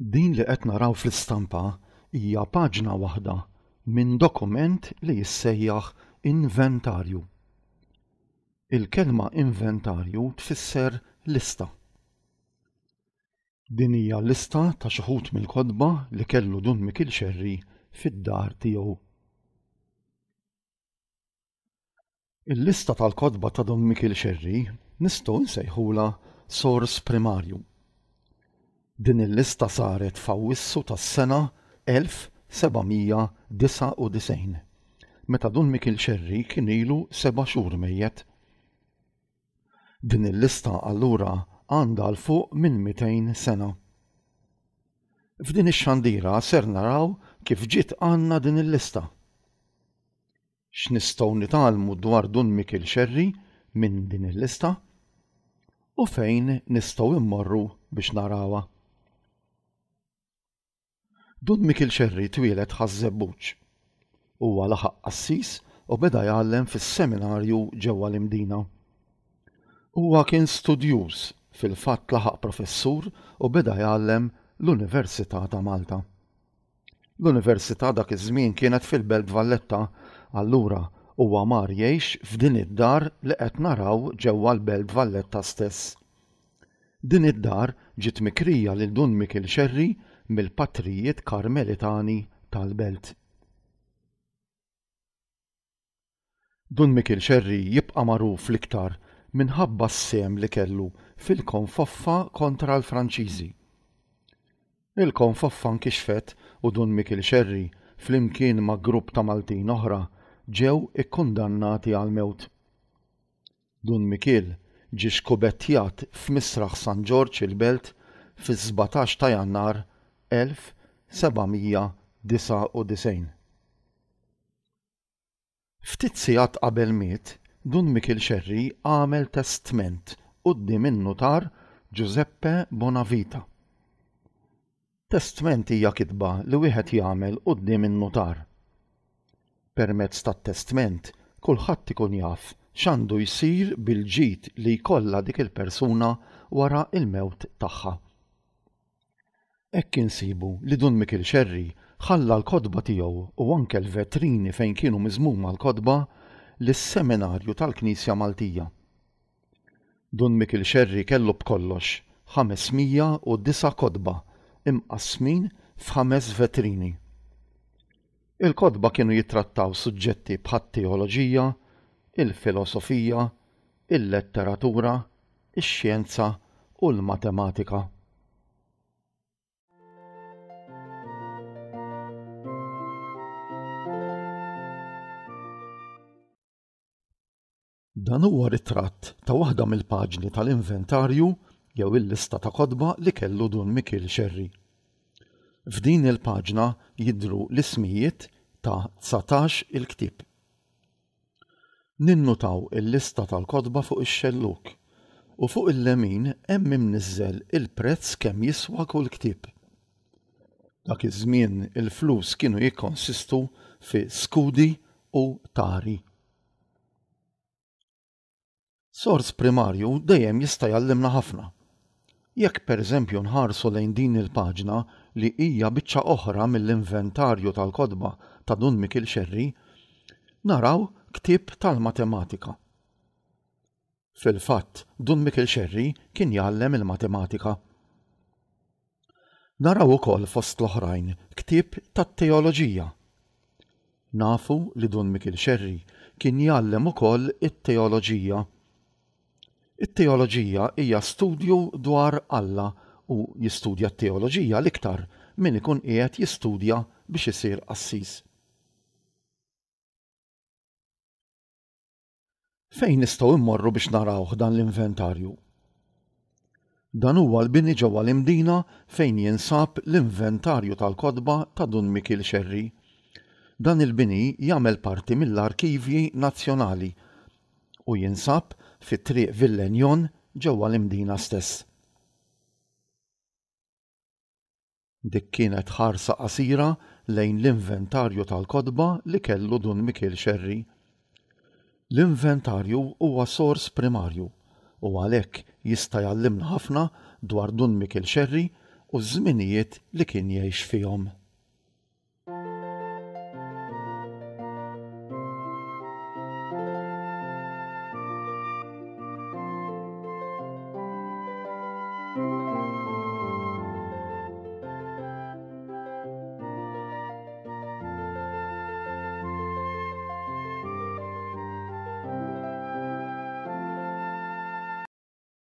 Din li qed naraw fl-istampa hija paġna waħda minn dokument li jissejjaħ inventarju. Il-kelma inventarju tfisser lista. Din hija lista ta' xi wħud mill-kotba li kellu Dun Mikiel Xerri fid-dar tiegħu. Il-lista tal-kotba ta' Dun Mikiel Xerri nistgħu nsejħulha sors primarju. Din il-lista saret f'Awwissu tas-sena 1799, meta Dun Mikiel Xerri kien ilu seba' xhur mejjet. Din il-lista allura għandha 'l fuq minn 200 sena. F'din ix-xandira ser naraw kif ġiet għandna din il-lista. X'nistgħu nitgħallmu dwar Dun Mikiel Xerri minn din il-lista? U fejn nistgħu mmorru biex narawha? Dun Mikiel Xerri twieled Ħaż-Żebbuġ. Huwa laħaq qassis u beda jgħallem fis-seminarju ġewwa l-Imdina. Huwa kien studjuż, fil-fatt laħaq professur u beda jgħallem l-Università ta' Malta. L-Università dak iż-żmien kienet fil-Belt Valletta, allura huwa mar jgħix f'din id-dar li qed naraw ġewwa l-Belt Valletta stess. Din id-dar ġiet mikrija lil Dun Mikiel Xerri mill-Patrijiet Karmelitani tal-Belt. Dun Mikiel Xerri jibqa' magħruf l-iktar minħabba s-sehem li kellu fil-konfoffa kontra l-Franċiżi. Il-konfoffa nkixfet u Dun Mikiel Xerri flimkien ma' grupp ta' Maltin oħra ġew ikkundannati għall-mewt. Dun Mikiel ġie xkubettjat f'Misraħ San Ġorġ il-Belt fis-17 ta' Jannar 1799. Ftit sigħat qabel miet, Dun Mikiel Xerri għamel testment quddiem in-nutar Giuseppe Bonavita. Testment hija kitba li wieħed jagħmel quddiem in-nutar. Permezz tat-testment kulħadd ikun jaf x'għandu jsir bil-ġid li jkollha dik il-persuna wara l-mewt tagħha. Hekk insibu li Dun Mikiel Xerri ħalla l-kotba tiegħu u anke l-vetrini fejn kienu miżmuma l-kotba lis-Seminarju tal-Knisja Maltija. Dun Mikiel Xerri kellu b'kollox 509 kotba imqassmin f'ħames vetrini. Il-kotba kienu jittrattaw suġġetti bħat-teoloġija, il-filosofija, il-letteratura, ix-xjenza u l-matematika. Dan huwa ritratt ta' waħda mill-paġni tal-inventarju jew il-lista ta' kotba li kellu Dun Mikiel Xerri. F'din il-paġna jidhru l-ismijiet ta' 19 il-ktieb. Ninnutaw il-lista tal-kotba fuq ix-xellug u fuq il-lemin hemm imniżżel il-prezz kemm jiswa kull ktieb. Dak iż-żmien il-flus kienu jikkonsistu fi skudi u tari. Sors primarju dejjem jista' jgħallimna ħafna. Jekk pereżempju nħarsu lejn din il-paġna li hija biċċa oħra mill-inventarju tal-kotba ta' Dun Mikiel Xerri, naraw ktieb tal-matematika. Fil-fatt, Dun Mikiel Xerri kien jgħallem il-matematika. Naraw ukoll fost l-oħrajn ktieb tat-teoloġija. Nafu li Dun Mikiel Xerri kien jgħallem ukoll it-teoloġija. It-teoloġija hija studju dwar Alla u jistudja t-teoloġija l-iktar min ikun qiegħed jistudja biex isir qassis. Fejn nistgħu mmorru biex narawh dan l-inventarju? Dan huwa l-bini ġewwa l-Imdina fejn jinsab l-inventarju tal-kotba ta' Dun Mikiel Xerri. Dan il-bini jagħmel parti mill-Arkivji Nazzjonali u jinsab fi Triq Villenjon ġewwa l-Imdina stess. Dik kienet ħarsa qasira lejn l-inventarju tal-kotba li kellu Dun Mikiel Xerri. L-inventarju huwa sors primarju u għalhekk jista' jgħallimna ħafna dwar Dun Mikiel Xerri u ż-żminijiet li kien jgħix fihom.